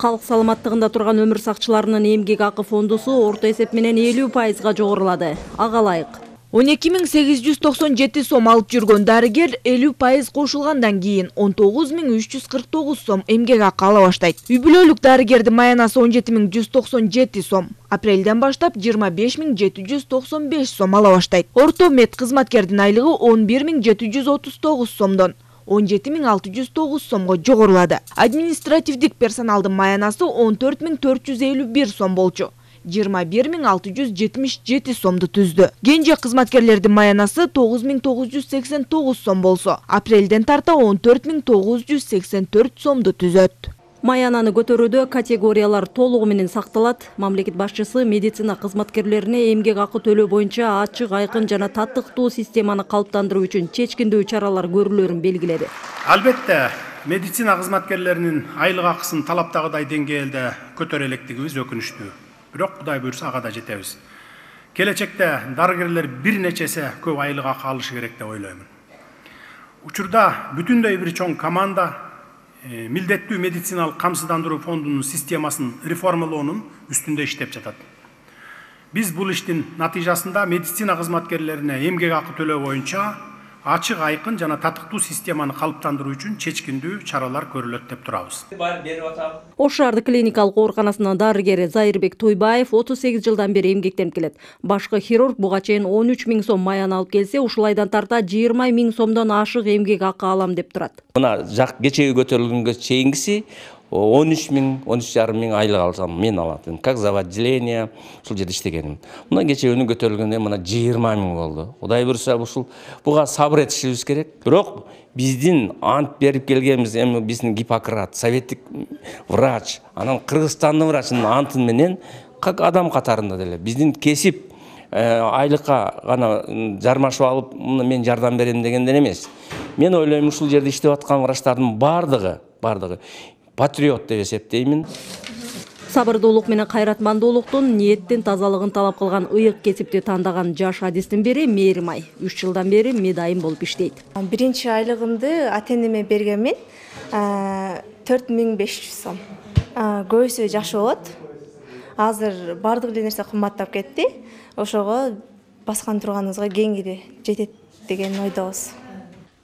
Калк саламаттыгында турган өмүр сакчыларынын эмгек акы фондусу орто эсеп менен 50% жогорулады. Ага ылайык. 12.897 сом алып жүргөн дарыгер 50% кошулгандан кийин 19.349 сом эмгек акы ала баштайт. Үй бүлөлүк дарыгердин маянасы 17.197 сом. Апрелден баштап 25.795 сом ала баштайт. Орто мед кызматкердин айлыгы 11.739 сомдон 17.609 сомго жогорулады. Административдик персоналдын маянасы 14.451 сом болчу. 21.677 сомду түздү. Кенже кызматкерлердин маянасы 9.989 сом болсо, апрелден тарта 14.984 сомду түзөт. Маянаны көтөрүүдө категориялар толугу менен сакталат. Мамлекет башчысы медицина кызматкерлерине эмгек акы төлөө боюнча ачык, айкын жана татыктуу системаны калыптандыруу үчүн чечкиндүү чаралар көрүлөрүн белгиледи. Албетте, медицина кызматкерлеринин айлык акысын талаптагыдай деңгээлде көтөрө электигибиз өкүнүчтүү. Бирок Кудай буйрса ага да жетебиз. Келечекте дарыгерлер бир нече эсе көп айлык акы алышы керек деп ойлоймун. Учурда бүтүндөй бир чоң команда милдеттүү медициналык камсыздандыруу фондунун системасын реформалоонун үстүндө иштеп жатат. Биз бул иштин натыйжасында медицина кызматкерлерине эмгек акы төлөө боюнча ачык, айкын жана татыктуу системаны калыптандыруу үчүн чечкиндүү чаралар көрүлөт деп турабыз. Ош шаардык клиникалык ооруканасынын дарыгери Зайырбек Тойбаев 38 жылдан бери эмгектенип келет. Башкы хирург буга чейин 13.000 сом маян алып келсе, ушул айдан тарта 20.000 сомдон ашык эмгек акы алам деп турат. Мына кечеги көтөрүлгөнгө чейингиси 13.000 айлык алсам мен алатым. Как за отделение ушул жерде иштегеним. Мына кечегөнү көтөрүлгөндө мына 20.000 болду. Кудай буйрса буга сабыр этишибиз керек. Бирок биздин ант берип келгенбиз, эми биздин Гиппократ, советтик врач, анан Кыргызстандын врачынын антын менен как адам катарында деле биздин кесип айлыкка гана жармашып алып, мен жардам берем дегенден эмес. Мен ойлойм, ушул жерде иштеп аткан врачтардын бардыгы патриот деп эсептеймин. Сабырдуулук менен кайратмандуулуктун, ниеттин тазалыгын талап кылган ыйык кесипти тандаган жаш адистин бири Мээрим-ай 3 жылдан бери медайым болуп иштейт. Биринчи айлыгымды ата-энеме бергенмин, 4.500 сом. Көбүсү жакшы болот. Азыр бардык эле нерсе кымбаттап кетти. Ошого баскан турганыбызга кеңири жетет деген ойдобуз.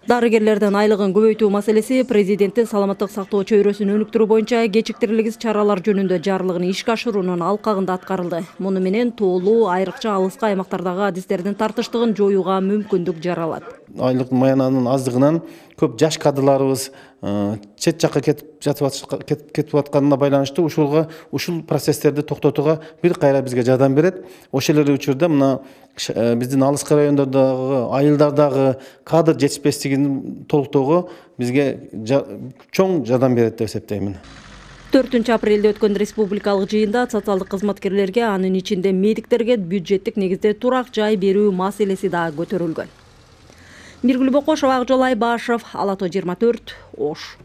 Дарыгерлердин айлыгын көбөйтүү маселеси президенттин саламаттык сактоо чөйрөсүн өнүктүрүү боюнча кечиктирилгис чаралар жөнүндө жарлыгын ишке ашыруунун алкагында аткарылды. Муну менен тоолуу, айрыкча алыскы аймактардагы адистердин тартыштыгын жоюуга мүмкүндүк жаралат. Айлык маянанын аздыгынан көп жаш кадрларыбыз чет жакка кетип атканына байланыштуу ушул процесстерди токтотууга бир кайра бизге жардам берет. Ошол эле учурда мына биздин алыскы райондордогу, айылдардагы кадр жетишпестигин толуктоого бизге чоң жардам берет деп эсептеймин. 4 апрелде өткөн республикалык жыйында социалдык кызматкерлерге, анын ичинде медиктерге бюджеттик негизде турак жай берүү маселеси да көтөрүлгөн. Миргүл Бокошова, Акжол Айбашев, Ала тоо 24, Ош.